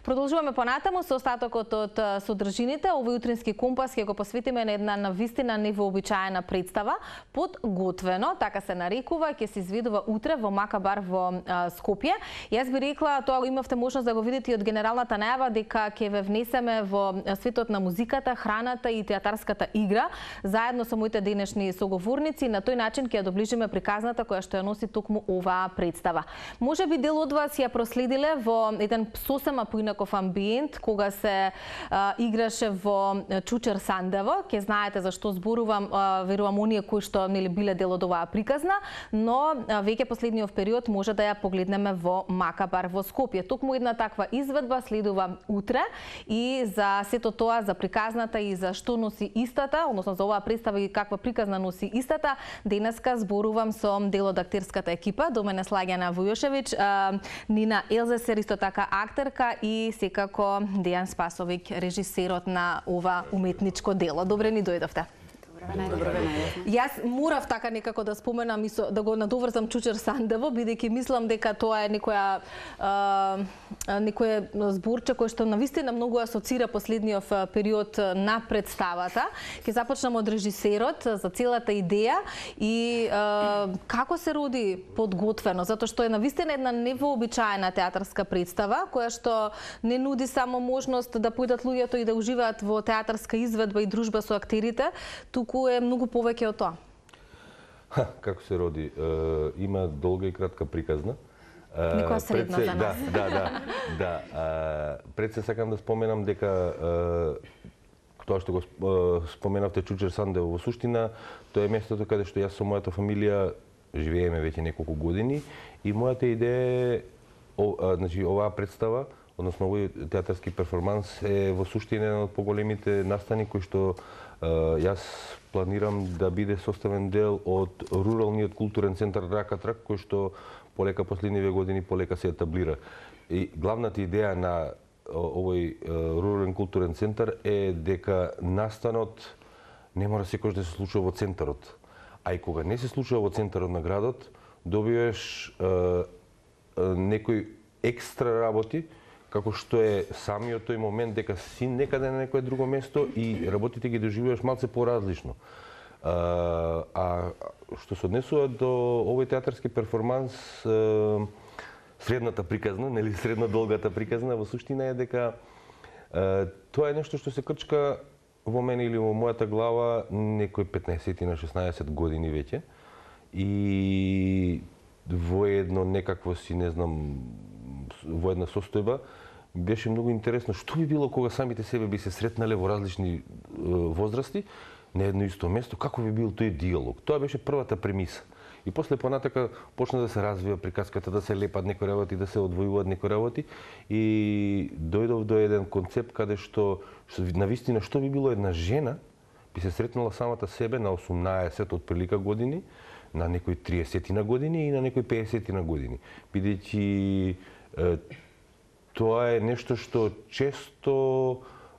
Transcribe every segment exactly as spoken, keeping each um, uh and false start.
Продолжуваме понатаму со остатокот од содржините. Овој утрински компас ќе го посветиме на една навистина невообичаена представа. Подготвено, така се нарекува, ќе се изведува утре во Макабар во Скопје. Јас би рекла, тоа имавте можност да го видите и од генералната најава, дека ќе ве внесеме во светот на музиката, храната и театарската игра, заедно со моите денешни соговорници. На тој начин ќе ја доближиме приказната која што ја носи токму оваа представа. Може би дел од вас ја проследиле во еден сосема поинаков амбиент, кога се а, играше во Чучер Сандево. Ке знаете зашто зборувам, а, верувам оние кои што нели биле дел од оваа приказна, но а, веќе последниот период може да ја погледнеме во Макабар во Скопје. Токму една таква изведба следува утре и за сето тоа, за приказната и за што носи истата, односно за оваа представа и каква приказна носи истата, денеска зборувам со дел од актерската екипа, до мене Слагјана Војошевиќ, а, Нина Елзесер, исто така актерка, и секако Дејан Спасовик, режисерот на ова уметничко дело. Добре ни дојдовте. Добро ве Јас морав така некако да споменам и со, да го надоврзам Чучер Сандево, бидејќи мислам дека тоа е некоја а, некој зборче кој што навистина многу асоцира последниот период на представата. Ќе започнам од режисерот за целата идеја и а, како се роди Подготвено, затоа што е навистина една невообичаена театарска представа која што не нуди само можност да појдат луѓето и да уживаат во театарска изведба и дружба со актерите, туку е многу повеќе од тоа. Ха, како се роди? Е, има долга и кратка приказна. Некоја средна се, за нас. Да, да, да. да е, пред се сакам да споменам дека е, тоа што го споменавте Чучер Сандево, во суштина, тоа е местото каде што јас со мојата фамилија живееме веќе неколку години и мојата идеја е, о, а, значи, оваа представа, односно овој театарски перформанс е во суштина еден од поголемите настани кои што јас планирам да биде составен дел од руралниот културен центар Рака Трак, кој што полека последниве години полека се етаблира. И главната идеја на овој рурален културен центар е дека настанот не мора секогаш да се случува во центарот. А и кога не се случува во центарот на градот, добиваш е, е, некои екстра работи, како што е самиот тој момент дека си некаде на некое друго место и работите ги доживуваш малце поразлично. А, а што се однесува до овој театарски перформанс, е, средната приказна, нели средно долгата приказна, во суштина е дека е, тоа е нешто што се крчка во мене или во мојата глава некој петнаесет на шеснаесет години веќе. И во едно некакво си, не знам, во една состојба, беше многу интересно што би било кога самите себе би се сретнале во различни е, возрасти на едно исто место, како би бил тој диалог. Тоа беше првата премиса. И после понатака почна да се развива приказката, да се лепат некои работи, да се одвојуваат некои работи и дојдов до еден концепт каде што, што навистина што би било една жена би се сретнала самата себе на осумнаесет од прилика години, на некои триесет на години и на некои пеесет на години. Бидејќи тоа е нешто што често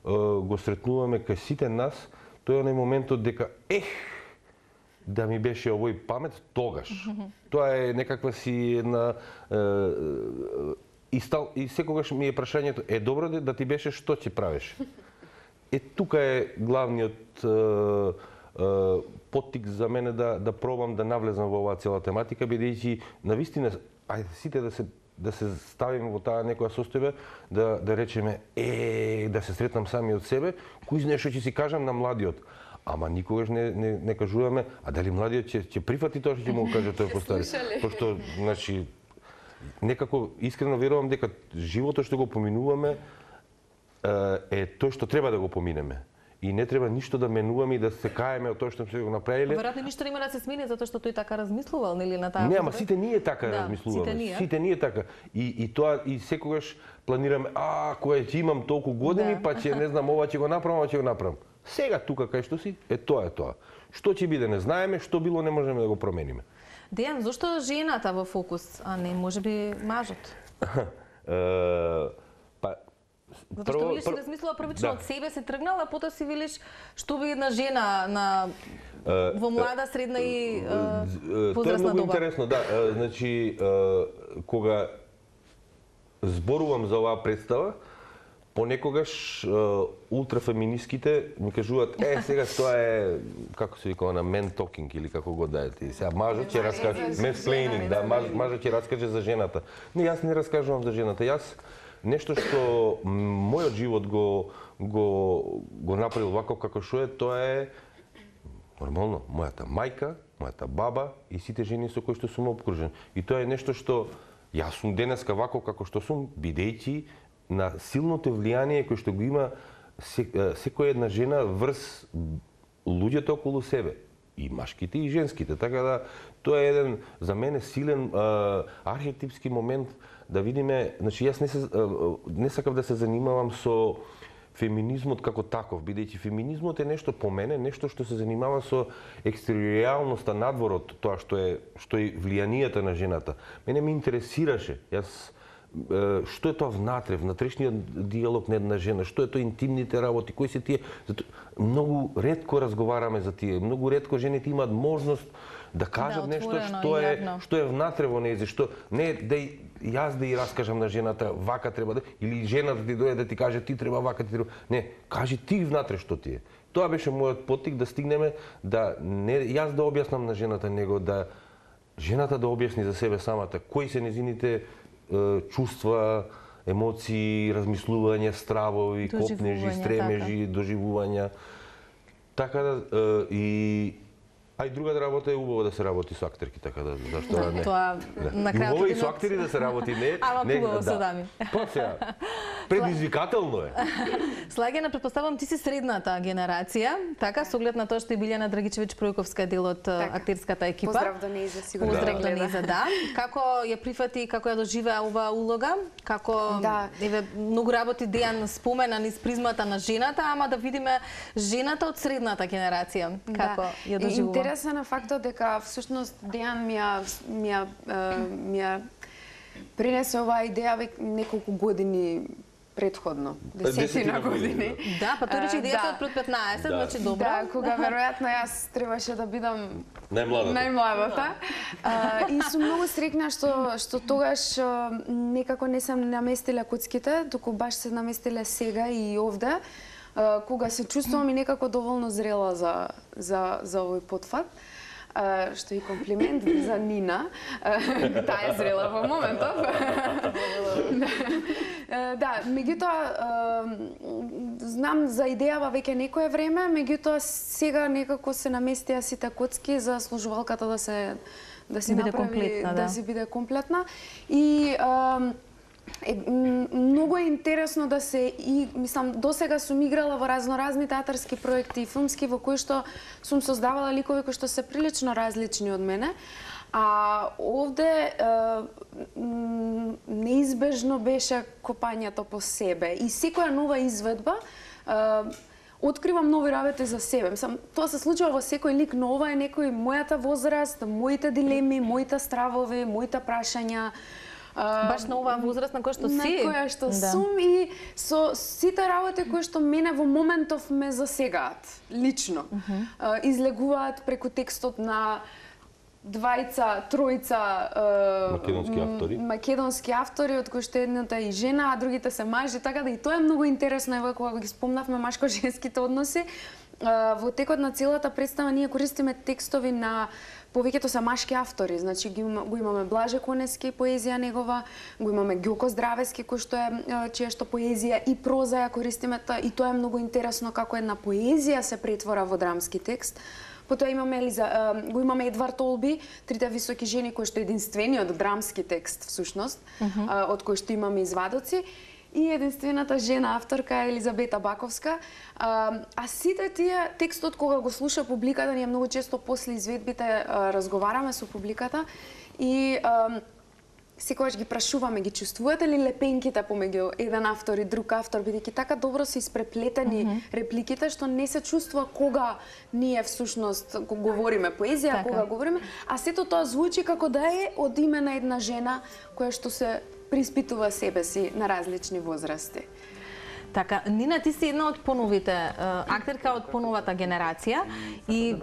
е, го сретнуваме кај сите нас, тоа е оној моментот дека ех, да ми беше овој памет тогаш. Тоа е некаква си една е, и, стал, и секогаш ми е прашањето, е добро да ти беше, што ќе правиш? Е тука е главниот е, е, поттик за мене да да пробам да навлезам во оваа цела тематика, бидејќи навистина ајде сите да се да се ставиме во таа некоја состојба, да, да речеме, е, да се сретнам сами од себе, кој знае што ќе си кажам на младиот. Ама никогаш не, не, не кажуваме, а дали младиот ќе, ќе прифати тоа што ќе му каже тој постари. Пошто, значи, некако искрено верувам дека животот што го поминуваме е тој што треба да го поминеме. И не треба ништо да менуваме и да се каеме од тоа што сме го направиле. Веројатно ништо нема да се смени затоа што тој така размислувал, нели на таа. Не, ама сите ние така да, размислуваме. Сите ние. Сите ние така. И и тоа и секогаш планираме, а кога ќе имам толку години, да. Па ќе не знам ова ќе го направам, ова ќе го направам. Сега тука кај што си, е тоа е тоа. Што ќе биде не знаеме, што било не можеме да го промениме. Дејан, зошто жената во фокус, а не можеби мажот? Затоа што велиш, си размислила првично од себе, се тргнала, а потоа си велиш што би една жена на во млада, средна и возрастна доба. Тоа е многу интересно, да. Значи, кога зборувам за оваа представа, Понекогаш ултрафеминистките ми кажуваат, е, сега тоа е, како се вика, на мен токинг или како го да е ти. Сега мажот ќе раскаже, менсплейнинг, да, маж, мажот ќе раскаже за жената. Не, јас не раскажувам за жената. Јас нешто што мојот живот го го го направил вако како што е, тоа е нормално, мојата мајка, мојата баба и сите жени со кои што сум обкружен. И тоа е нешто што јас сум денеска вако како што сум, бидејќи на силното влијание кој што го има секоја една жена врз луѓето околу себе, и машките и женските. Така да тоа е еден за мене силен а, архетипски момент да видиме, значи јас не се а, не сакав да се занимавам со феминизмот како таков, бидејќи феминизмот е нешто по мене, нешто што се занимава со екстериоралноста надвор од тоа што е што е влијанието на жената. Мене ме интересираше, јас што е тоа внатре, внатрешниот диалог на една жена, што е тоа интимните работи, кои се тие. Зато многу ретко разговараме за тие, многу ретко жените имаат можност да кажат да, нешто што е што е внатре во нејзе, што не да јас да ја раскажам на жената вака треба да, или жената ти дојде да ти каже ти треба вака, ти треба. Не, кажи ти внатре што ти е. Тоа беше мојот поттик да стигнеме да не јас да објаснам на жената, него да жената да објасни за себе самата кои се незините чувства, емоции, размислувања, стравови, копнежи, стремежи, така. Доживувања. Така да и А и другата работа е убаво да се работи со актерки, така да зашто да, не. Тоа да. на крајот убаво и со актери да се работи, не. Ама не, убаво да. со дами. Па сега. Предизвикателно е. Слагена, претпоставам ти си средната генерација, така со оглед на тоа што и Билјана Драгичевиќ Пројковска е дел од така. Актерската екипа. Поздрав до нејза, сигурно. Поздрав до нејза, да. Како ја прифати, како ја доживеа оваа улога? Како да. еве многу работи Дејан спомена низ призмата на жената, ама да видиме жената од средната генерација, како да. Ја доживува. Интересен е фактот дека всушност Дејан ми ја ми ја ми ја принесе оваа идеја веќе неколку години предходно, десетина години. Да, па тој рече идејата од пред петнаесет, да. значи добро. Да, кога веројатно јас требаше да бидам најмладата. Најмладата. А, и сум многу среќна што што тогаш некако не сам наместила коцките, туку баш се наместиле сега и овде. Кога се чувствувам и некако доволно зрела за за за овој потфат. Uh, што и комплимент за Нина. Uh, таа е зрела во моментов. uh, да, меѓутоа uh, знам за идејава веќе некое време, меѓутоа сега некако се наместија сите коцки за служувалката да се да се направи комплетна, да. да се биде комплетна и uh, Е, многу е интересно да се и мислам досега сум играла во разноразни театарски проекти и филмски во кои што сум создавала ликови кои што се прилично различни од мене. А овде е, неизбежно беше копањето по себе и секоја нова изведба е, откривам нови работи за себе. Мислам, тоа се случува во секој лик, но ова е некој мојата возраст, моите дилеми, моите стравови, моите прашања. Баш на оваа возраст на која што си. На која што да. сум и со сите работи кои што мене во моментов ме засегаат, лично. Uh -huh. Излегуваат преку текстот на двајца, тројца македонски автори. Македонски автори, од кои што едната е и жена, а другите се мажи, така да и тоа е многу интересно, ево кога ги спомнавме машко-женските односи. Во текот на целата представа ние користиме текстови на повеќето се машки автори, значи ги го имаме Блаже Конески, поезија негова, го имаме Ѓоко Здравески, кој што е чија што поезија и проза ја користиме, и тоа е многу интересно како една поезија се претвора во драмски текст. Потоа имаме Елиза, го имаме Едвард Олби, Трите високи жени, кој што е единствениот драмски текст всушност, uh -huh. од кој што имаме извадоци. И единствената жена авторка е Елизабета Баковска. А, а сите тие текстот кога го слуша публиката, ние многу често после изведбите а, разговараме со публиката и а, секогаш ги прашуваме, ги чувствувате ли лепенките помеѓу еден автор и друг автор, бидејќи така добро се испреплетени mm -hmm. репликите, што не се чувствува кога ние всушност говориме поезија, така. Кога говориме, а сето тоа звучи како да е од име на една жена која што се приспитува себе си на различни возрасти. Така, Нина, ти си една од поновите, актерка од поновата генерација и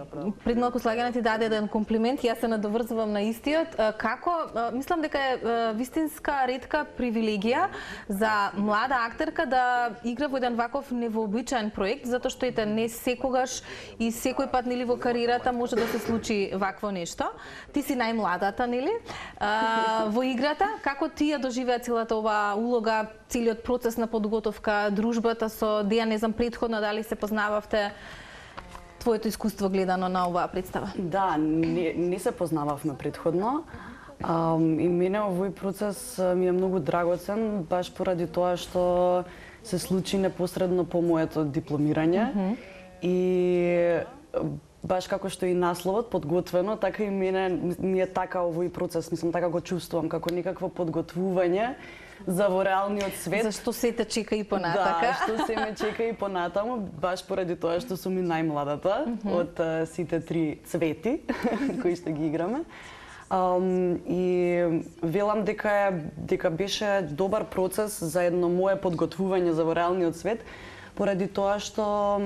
пред малку Слагена ти даде еден комплимент, јас се надоврзувам на истиот. Како, мислам дека е вистинска ретка привилегија за млада актерка да игра во еден ваков невообичаен проект, затоа што ете не секогаш и секој пат нели во кариерата може да се случи вакво нешто. Ти си најмладата, нели? Во играта, како ти ја доживеа целата оваа улога, целиот процес на подготовка, дружбата со Дејан, не знам претходно дали се познававте, твоето искуство гледано на оваа представа? Да, не, не се познававме претходно. Um, и мене овој процес ми е многу драгоцен, баш поради тоа што се случи непосредно по моето дипломирање. Mm -hmm. И баш како што и насловот подготвено, така и мене ми е така овој процес, мислам така го чувствувам како некакво подготвување за во реалниот свет. Зашто се те чека и понатака? Да, што се ме чека и понатаму, баш поради тоа што сум и најмладата mm -hmm. од uh, сите три цвети кои што ги играме. Um, и велам дека е, дека беше добар процес за едно мое подготвување за во реалниот свет, поради тоа што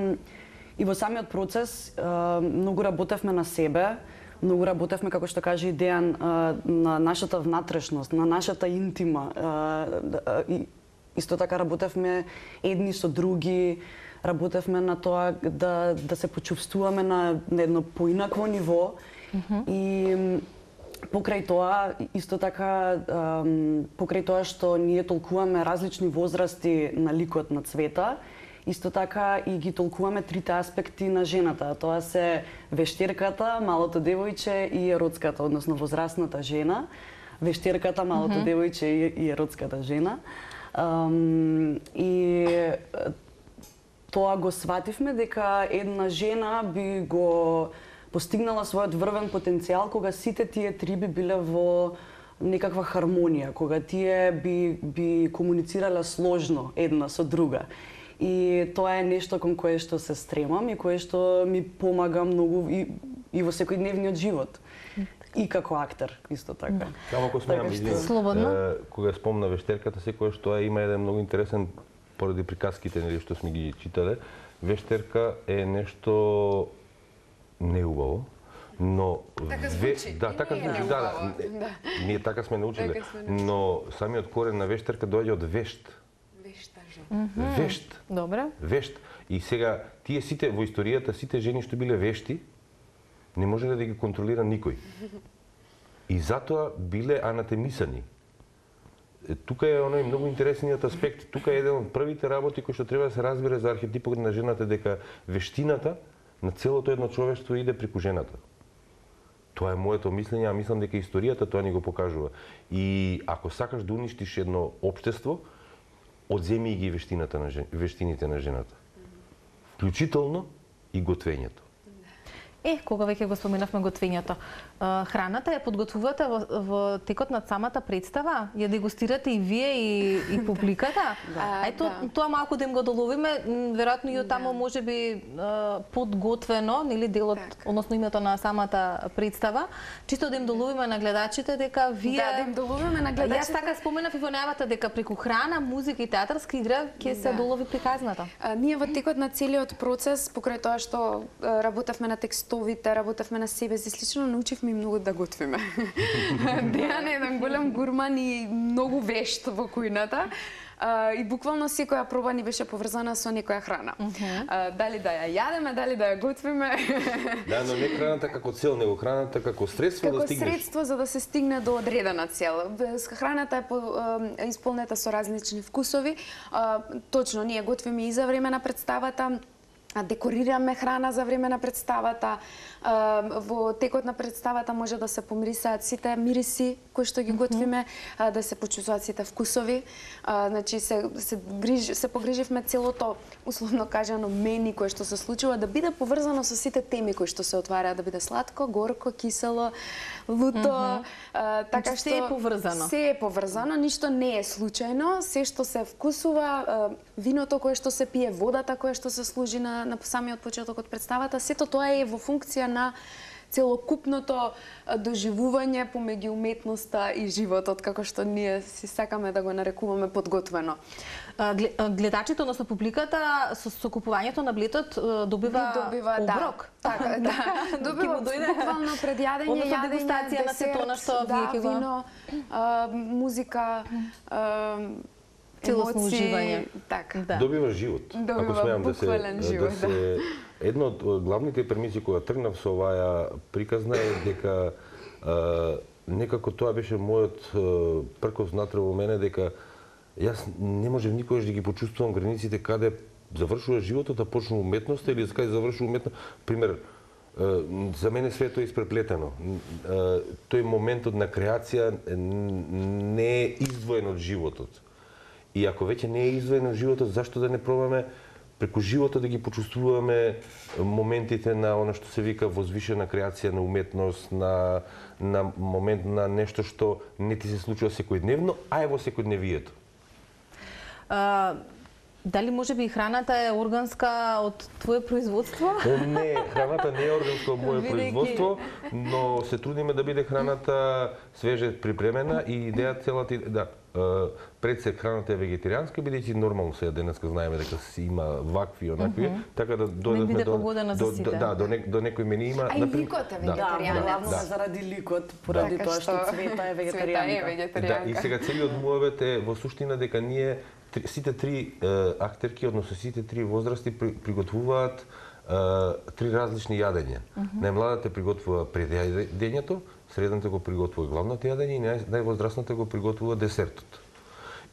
и во самиот процес uh, многу работевме на себе, многу работевме, како што каже и Дејан, на нашата внатрешност, на нашата интима. И исто така работевме едни со други, работевме на тоа да, да се почувствуваме на, на едно поинакво ниво. Mm-hmm. И покрај тоа, исто така, покрај тоа што ние толкуваме различни возрасти на ликот на Цвета, исто така и ги толкуваме трите аспекти на жената. Тоа се вештерката, малото девојче и еротската, односно возрастната жена. Вештерката, малото mm -hmm. девојче и еротската жена. Um, и тоа го свативме дека една жена би го постигнала својот врвен потенцијал кога сите тие три би биле во некаква хармонија, кога тие би, би комуницирале сложно една со друга. И тоа е нешто кон кое што се стремам и кое што ми помага многу и, и во секојдневниот живот. И како актер, исто така. Само ако смеам, Слободно. Кога спомна вештерката, секојаш тоа има еден многу интересен, поради приказките нели што сме ги читале, вештерка е нешто неубаво, но така звучи. Да, така звучи, да, да. да. Ние така сме научиле, така сме научили. Но самиот корен на вештерка доаѓа од вешт. Вешта жена. Mm -hmm. Вешт. Добре. Вешт. И сега тие сите во историјата, сите жени што биле вешти, не можеле да ги контролира никој. И затоа биле анатемисани. Тука е оној многу интересниот аспект. Тука е еден од првите работи кои што треба да се разбере за архетипот на жената, дека вештината на целото едно човештво иде преку жената. Тоа е моето мислење, а мислам дека историјата тоа ни го покажува. И ако сакаш да уништиш едно општество, одземи ги вештината на жен... вештините на жената. Вклучително и готвењето. Е, кога веќе го споменавме готвењето, храната ја подготвувате во, во текот на самата представа? Ја дегустирате и вие и, и публиката? Да. Ето, да. тоа малку да им го доловиме, веројатно и од таму да. може би подготвено, нели делот, так. Односно името на самата представа, чисто да им доловиме на гледачите дека вие... Да, да им доловиме на гледачите. Јас така споменав и во најавата дека преку храна, музика и театарска игра ќе се да. долови приказната. А, ние во текот на целиот процес, покрај тоа што работевме на текстовите, работевме на себе си слично, научивме и многу да готвиме. Дејан е еден голем гурман и многу вешт во кујната. Uh, и буквално секоја проба ни беше поврзана со некоја храна. Uh -huh. uh, дали да ја јадеме, дали да ја готвиме. Да, но не храната како цел, него храната како средство како да стигнеш. Како средство за да се стигне до одредена цел. Храната е по, uh, исполнета со различни вкусови. Uh, точно, ние готвиме и за време на представата, декорираме храна за време на представата. Во текот на представата може да се помирисаат сите мириси кои што ги готвиме, да се почувствуваат сите вкусови. Значи се се грижи, се погриживме целото, условно кажано, мени кое што се случува да биде поврзано со сите теми кои што се отвараат, да биде сладко, горко, кисело, луто, mm -hmm. така што се е поврзано. Се е поврзано, ништо не е случајно, се што се вкусува, виното кое што се пие, водата која што се служи на на самиот почеток од представата, сето тоа е во функција на целокупното доживување помеѓу уметноста и животот, како што ние си сакаме да го нарекуваме подготвено. Гледачите, односно публиката, со, со купувањето на билетот добива, добива оброк. Да, така, да. Добива буквално предјадење, јадење, дегустација на сето она што да, вие ќе го... вино, а, музика, а, целосно емоции, уживање. Така. Да. Добива живот. Добива Ако смеам да се, буквален живот, да се... Едно од главните премиси кога тргнав со оваа приказна е дека а, некако тоа беше мојот пркос внатре во мене, дека јас не можев никогаш да ги почувствувам границите каде завршува животот, а почнува уметноста или каде завршува уметноста. Пример, за мене свето е испреплетено. Тој моментот на креација не е издвоен од животот. И ако веќе не е издвоен од животот, зашто да не пробаме преку животот да ги почувствуваме моментите на она што се вика возвишена креација, на уметност, на, на момент на нешто што не ти се случува секојдневно, а е во секојдневието. А, дали може би храната е органска од твое производство? Не, храната не е органска од моје производство, но се трудиме да биде храната свеже припремена и идеја целата, да, пред се храната е вегетаријанска, бидејќи нормално сега денеска знаеме дека си има вакви и онакви, mm -hmm. така да дојдеме до, до, до, да, до, не, до некој мене има. А и ликот е вегетаријанец. Да, главно да. заради ликот, поради да. тоа што Цвета е вегетаријанка. Да, и сега целиот муавет е во суштина дека ние сите три е, актерки, односно сите три возрасти при, приготвуваат е, три различни јадења. Mm -hmm. Најмладата приготвува пред јадењето, средната го приготвува главното јадење и нај, највозрастната го приготвува десертот.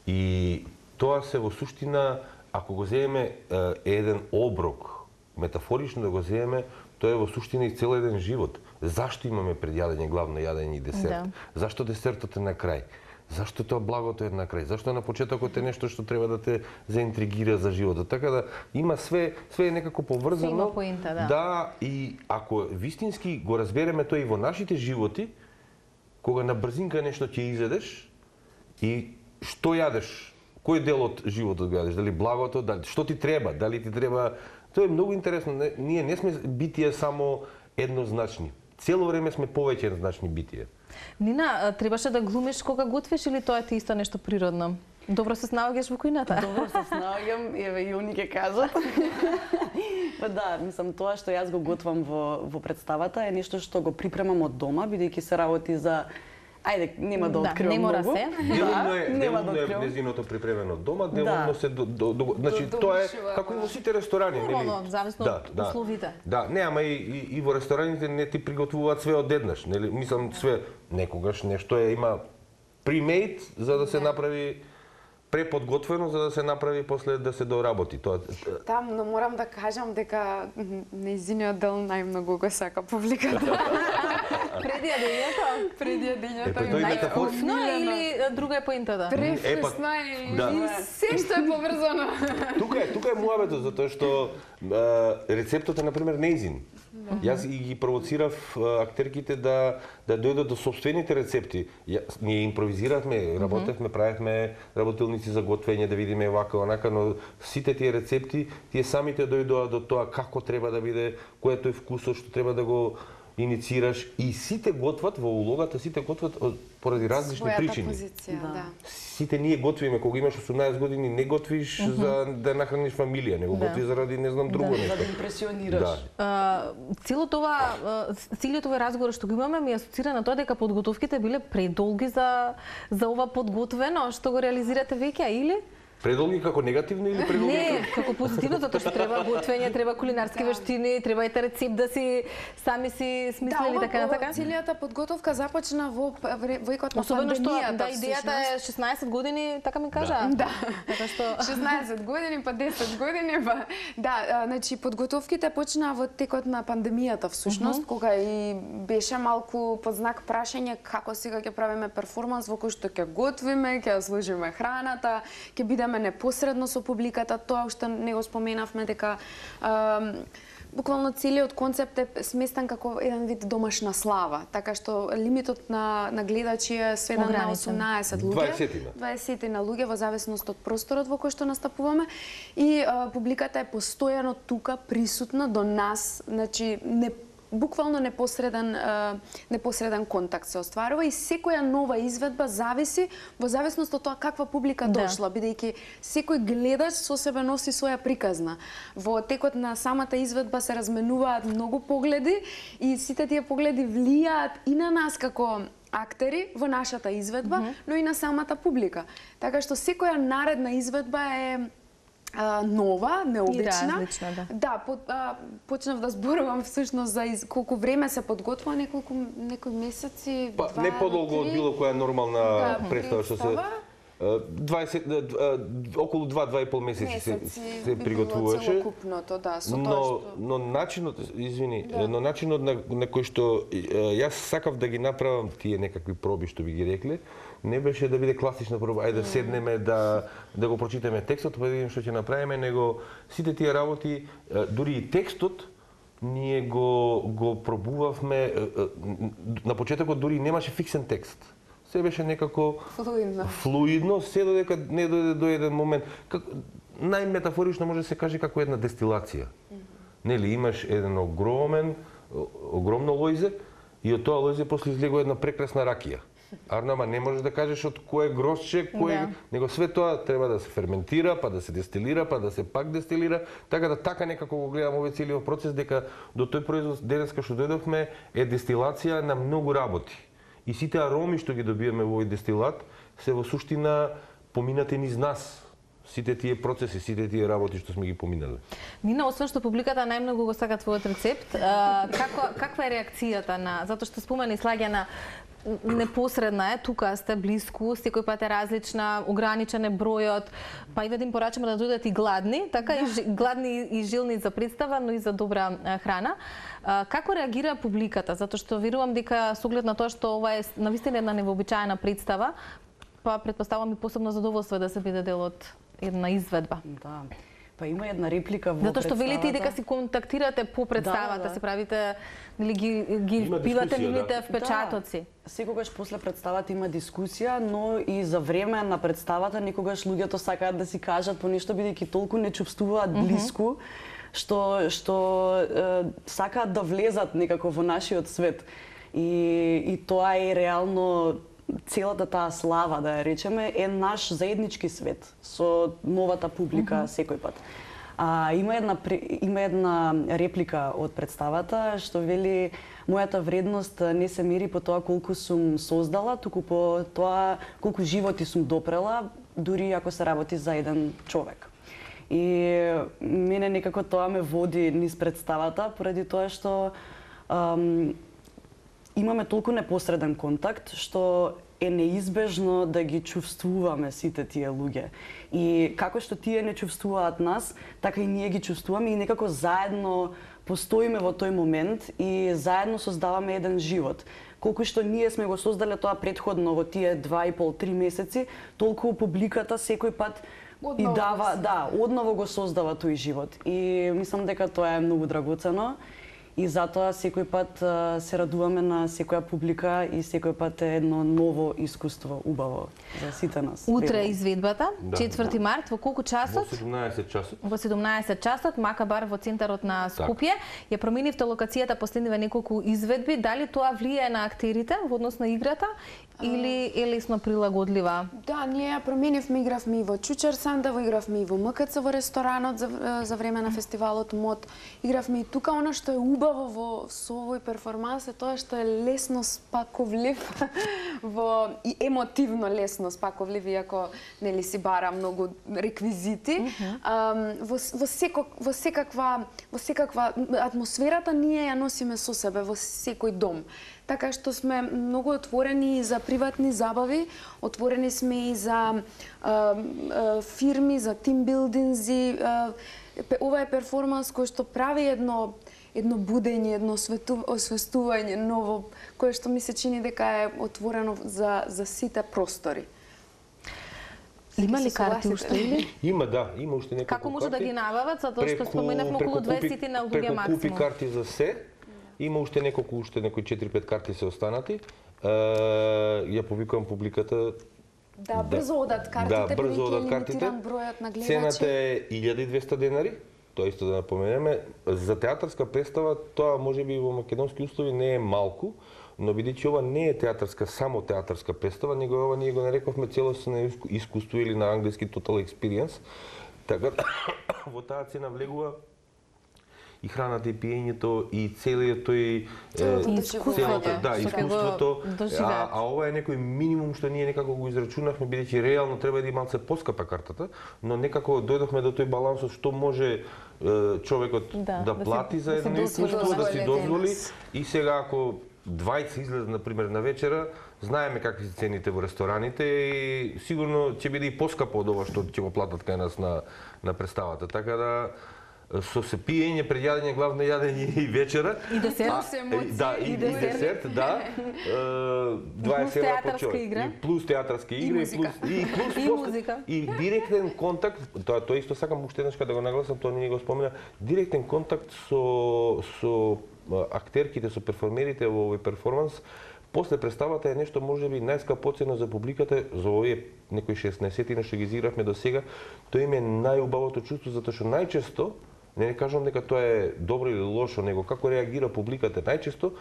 И тоа се во суштина, ако го земеме е, еден оброк, метафорично да го земеме, тоа е во суштина и цел еден живот. Зашто имаме пред јадење главно јадење и десерт? Да. Зашто десертот е на крај? Зашто тоа благото е на крај? Зашто на почетокот е нешто што треба да те заинтригира за животот? Така да има све, све е некако поврзано. Има поинта, да. Да, и ако вистински го разбереме тоа и во нашите животи, кога на брзинка нешто ќе изедеш и што јадеш? Кој дел од животот го јадеш? Дали благото, дали што ти треба? Дали ти треба? Тоа е многу интересно. Не, ние не сме битија само еднозначни. Цело време сме повеќе еднозначни битија. Нина, требаше да глумиш кога готвиш или тоа е ти исто нешто природно? Добро се снаоѓаш во кујната? Добро се снаоѓам, еве и они ќе кажат. Па да, мислам тоа што јас го готвам во во представата е нешто што го припремам од дома, бидејќи се работи за ајде, нема да откривам многу. Да, не мора се. Делумно е, делумно е незиното припремено дома, делумно да. се до, до, до, значи до, тоа е како и во сите ресторани, нели? Нормално, зависно да, од да, условите. Да, не, ама и, и, и во рестораните не ти приготвуваат све одеднаш, нели? Мислам све некогаш нешто е има pre-made за да се направи преподготвено за да се направи после да се доработи. Тоа Там, но морам да кажам дека нејзиниот дел најмногу го сака публиката. Преди јадењето? Преди јадењето. Највкусно или друга е поинтата? Превкусно и, да. и се што е поврзано. Тука е, тука е муабетот, затоа што рецептот е, например, нејзин. Јас и ги провоцирав актерките да да дојдат до сопствените рецепти. Ја, ние импровизиравме, работевме, правевме работилници за готвење, да видиме вака онака, но сите тие рецепти, тие самите дојдоа до тоа како треба да биде, кој е тој вкусот што треба да го иницираш и сите готват во улогата, сите готват поради различни својата причини. Позиција, да. да. Сите ние готвиме кога имаш осумнаесет години, не готвиш uh -huh. за да нахраниш фамилија, него да. готвиш заради не знам друго да. нешто. За да импресионираш. Да. Uh, целото ова целиот овој разговор што го имаме ми асоцира на тоа дека подготовките биле предолги за за ова подготвено што го реализирате веќе, или? Предолги како негативно или предолги? Не, како позитивно, затоа што треба готвење, треба кулинарски да. вештини, треба ете рецепт да си сами си смислили да, така на така. Целијата подготовка започна во векот на особено пандемијата. Што да идејата е шеснаесет години, така ми кажа. Да. да. Така што шеснаесет години, па десет години, па да, значи подготовките почнаа во текот на пандемијата всушност, uh -huh. кога и беше малку под знак прашање како сега ќе правиме перформанс во кој што ќе готвиме, ќе сложиме храната, ќе бидеме непосредно со публиката, тоа уште не го споменавме дека е, буквално целиот концепт е сместен како еден вид домашна слава, така што лимитот на на гледачи е сведен на осумнаесет луѓе, дваесет на луѓе во зависност од просторот во кој што настапуваме и е, публиката е постојано тука присутна до нас, значи не буквално непосреден непосреден контакт се остварува и секоја нова изведба зависи во зависност од тоа каква публика Да. дошла, бидејќи секој гледач со себе носи своја приказна. Во текот на самата изведба се разменуваат многу погледи и сите тие погледи влијаат и на нас како актери во нашата изведба, mm -hmm. но и на самата публика. Така што секоја наредна изведба е а, нова, необична. И различна, да. Да, по, а, почнав да зборувам всушност за из, колку време се подготвува, неколку некои месеци, Па, два не до подолго од три. било која нормална Да, представа што се представа. дваесет околу два два и пол месеци се, Месеци се би приготвуваше. било целокупното, да, со Но, тоа што... но начинот, извини, Да. но начинот на, на кој што е, јас сакав да ги направам тие некакви проби што би ги рекле, не беше да биде класична проба, ајде да седнеме да да го прочитаме текстот, па да видиме што ќе направиме, него сите тие работи, е, дури и текстот ние го го пробувавме, е, е, на почетокот дури немаше фиксен текст. Се беше некако Флуидно. флуидно, се додека не дојде до еден момент. Как, најметафорично може да се каже како една дестилација. Mm -hmm. Нели, имаш еден огромен, огромно лојзе и од тоа лојзе после излегува една прекрасна ракија. Арно, ама не можеш да кажеш од кое грозче, кое... Да. Него све тоа треба да се ферментира, па да се дестилира, па да се пак дестилира, така да така некако го гледам овој целиот процес, дека до тој производ денеска што дојдовме е дестилација на многу работи. И сите ароми што ги добиваме во овој дестилат се во суштина поминати низ нас. Сите тие процеси, сите тие работи што сме ги поминали. Нина, освен што публиката најмногу го сака твојот рецепт, а, како, каква е реакцијата на, затоа што спомена Слагјана, непосредна е, тука сте блиску, секој пат е различна, ограничен е бројот, па и да им порачаме да дојдат и гладни, така и жи- гладни и жилни за представа, но и за добра а, храна. А, како реагира публиката? Затоа што верувам дека со оглед на тоа што ова е навистина една невообичаена представа, па претпоставувам и посебно задоволство е да се биде дел од една изведба. Да. Па има една реплика во Затоа што велите и дека представата. си контактирате по представата, Да, да. си правите, нели ги ги Има пивате дискусија, нивните да. впечатоци. Да. Секогаш после представата има дискусија, но и за време на представата некогаш луѓето сакаат да си кажат по нешто бидејќи толку не чувствуваат блиску, што што е, сакаат да влезат некако во нашиот свет. И и тоа е реално целата таа слава, да ја речеме, е наш заеднички свет со новата публика mm -hmm. секој пат. А, има една има една реплика од представата што вели: мојата вредност не се мери по тоа колку сум создала, туку по тоа колку животи сум допрела, дури ако се работи за еден човек. И мене некако тоа ме води низ представата, поради тоа што ам, имаме толку непосреден контакт што е неизбежно да ги чувствуваме сите тие луѓе. И како што тие не чувствуваат нас, така и ние ги чувствуваме и некако заедно постоиме во тој момент и заедно создаваме еден живот. Колку што ние сме го создале тоа претходно во тие два и пол три месеци, толку публиката секој пат Одново и го дава, создава. да, одново го создава тој живот. И мислам дека тоа е многу драгоцено. И затоа секој пат а, се радуваме на секоја публика и секој пат е едно ново искуство, убаво за сите нас. Утре е верувам. изведбата, Да. четврти март, во колку Во часот? седумнаесет часот. Во седумнаесет часот, Макабар во центарот на Скопје. Ја променивте локацијата последниве неколку изведби. Дали тоа влијае на актерите во однос на играта или е лесно прилагодлива? Да, ние ја променивме, игравме и во Чучер Сандево, игравме и во МКЦ во ресторанот за, за време на фестивалот МОД. Игравме и тука. Она што е убаво во со овој перформанс е тоа што е лесно спаковлив во и емотивно лесно спаковлив, иако нели си бара многу реквизити. Mm -hmm. um, во во секо, во секаква во секаква атмосферата ние ја носиме со себе во секој дом. Така што сме многу отворени и за приватни забави, отворени сме и за а, а, фирми, за тимбилдинзи. А, ова е перформанс кој што прави едно едно будење, едно освестување ново, кое што ми се чини дека е отворено за за сите простори. Има ли се карти согласите? уште или? Има, да, има уште неколку Како може да карти. ги набават, затоа што Преку- споменавме околу преку купи- дваесет на луѓе преку купи максимум. карти за се. Има уште неколку, уште некои четири пет карти се останати. Е, ја повикувам публиката. Да, брзо одат картите, Да, брзо бидејќи е одат картите. лимитиран бројот на гледачи. Цената е илјада и двесте денари. тоа исто да напоменеме. За театарска представа тоа можеби во македонски услови не е малку, но бидејќи ова не е театарска, само театарска представа, него ова ние го нарековме целосно искуство или на англиски total experience. Така во таа цена влегува и храната, и пиењето, и целиот тој искуството, да, искуството. А, а ова е некој минимум што ние некако го израчунавме, бидејќи реално треба да и малце поскапа картата, но некако дојдовме до тој балансот што може човекот да, да, да плати за едно искуство, да си дозволи, и сега ако двајца излезе, например, на вечера, знаеме какви се цените во рестораните и сигурно ќе биде и поскапо од ова што ќе го платат кај нас на, на представата. Така да, со се пиење, пред јадење, главно јадење и вечера. И десерт. Да, и, и десерт, да. дваесет евра по човек. И плюс театарски игри, и плюс, и, плюс, и музика. И директен контакт, тоа, тоа исто сакам уште еднаш да го нагласам, тоа не го спомена, директен контакт со, со актерките, со перформерите во овој перформанс. После представата е нешто можеби најскапоцено за публиката, за овие некои шеснаесет што ги изигравме до сега. Тоа им е најубавото чувство, затоа што најчесто, не не кажам дека тоа е добро или лошо, него како реагира публиката, најчесто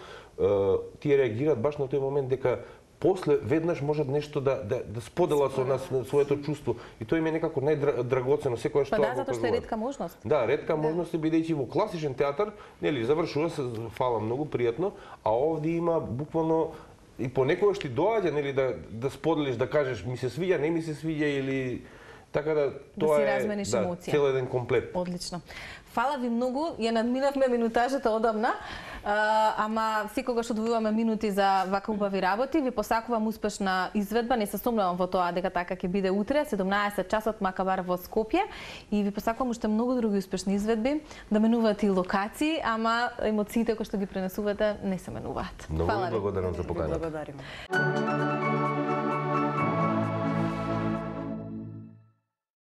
тие реагираат баш на тој момент дека после веднаш можат нешто да да, да споделат со нас своето чувство, и тоа им е некако најдрагоцено секогаш тоа. Па да, затоа што е ретка можност. Да, ретка можност, бидејќи во класичен театар, нели, завршува се, фала многу пријатно, а овде има буквално и понекогаш ти доаѓа, нели, да да споделиш, да кажеш ми се свиѓа, не ми се свиѓа, или така да тоа да е да, цел еден комплет. Одлично. Фала ви многу, ја надминавме минутажата одамна, а, ама секогаш одвојуваме минути за вака убави работи. Ви посакувам успешна изведба, не се сомневам во тоа дека така ќе биде утре, седумнаесет часот Макабар во Скопје, и ви посакувам уште многу други успешни изведби, да менуваат и локации, ама емоциите кои што ги пренесувате не се менуваат. Многу ви благодарам за поканата. Благодариме.